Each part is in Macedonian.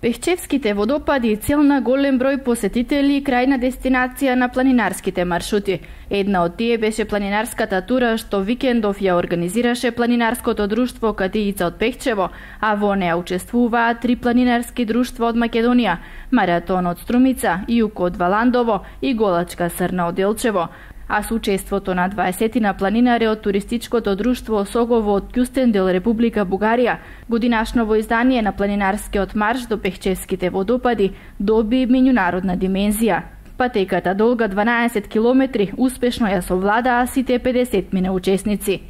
Пехчевските водопади цел на голем број посетители и крајна дестинација на планинарските маршрути. Една од тие беше планинарската тура што викендов ја организираше планинарското друштво Катиица од Пехчево, а во неа учествуваа 3 планинарски друштва од Македонија: Маратон од Струмица, Јуко од Валандово и Голачка Срна од Делчево. А со учеството на 20 планинари од туристичкото друштво Согово од Кјустендел, Република Бугарија, годинашново издание на планинарскиот марш до Пехчевските водопади доби меѓународна димензија. Патеката долга 12 километри успешно ја совладаа сите 50 учесници.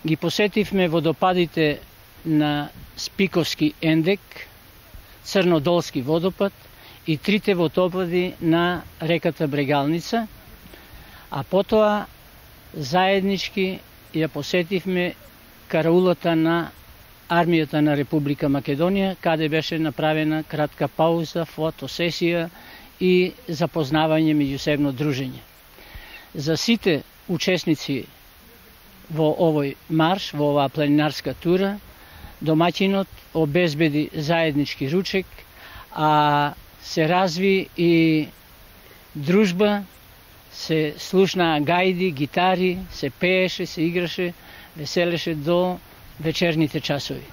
Ги посетивме водопадите на Спиковски ендек, Црнодолски водопад и 3 водопади на реката Брегалница, а потоа заеднички ја посетивме караулата на армијата на Република Македонија, каде беше направена кратка пауза, фотосесија и запознавање меѓусебно дружење. За сите учесници во овој марш, во оваа планинарска тура, домаќинот обезбеди заеднички ручек, а се разви и дружба, се слушнаа гајди, гитари, се пееше, се играше, веселеше до вечерните часови.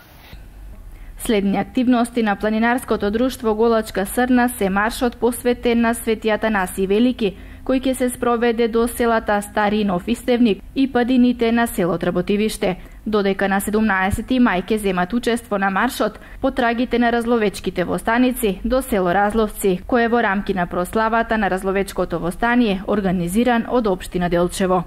Следни активности на планинарското друштво Голачка Срна се маршот посветен на Свети Атанаси Велики, кој ќе се спроведе до селата Стари Нов Истевник и падините на село Работивиште. Додека на 17 мај ќе земат учество на маршот потрагите на разловечките востаници до село Разловци, кое во рамки на прославата на разловечкото востание организиран од општина Делчево.